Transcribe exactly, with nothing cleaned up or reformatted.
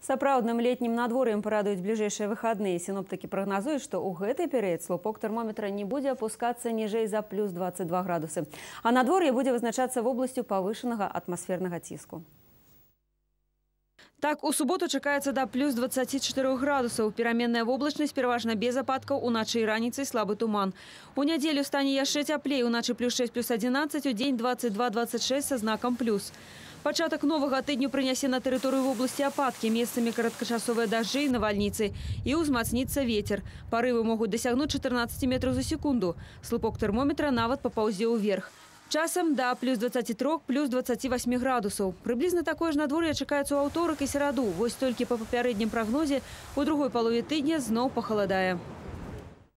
Сапраўдным летнім надвор'ем парадуюць бліжэйшыя выхадныя. Сіноптыкі прагназуюць, што ў гэты перыяд слупок тэрмометра не будзе апускацца ніжэй за плюс двадцать два градусы. А надвор'е будзе вызначацца вобласцю павышанага атмасфернага ціску. Так, у суботу чакаецца да плюс двадцати чатырох градусаў. Пераменная воблачнасць пераважна без ападкаў, уначы і раніцай слабы туман. У нядзелю стане яшчэ цяплей, уначы плюс шесть, плюс одиннадцать, у дзень двадцать два двадцать шесть са знакам плюс. Пачатак новага тыдню прынясе на тэрыторыю вобласці ападкі, месцамі кароткачасовыя дажджы і навальніцы. І ўзмацніцца вецер. Парывы могуць дасягнуць чатырнаццаць метраў за секунду. Слупок тэрмометра нават папаўзе ўверх. Часам да плюс двадцати трёх, плюс двадцати восьми градусаў. Прыблізна такое ж надвор'е чакаецца ў аўторак і сераду. Вось толькі па папярэднім прагнозе у другой палове тыдня зноў пахаладае.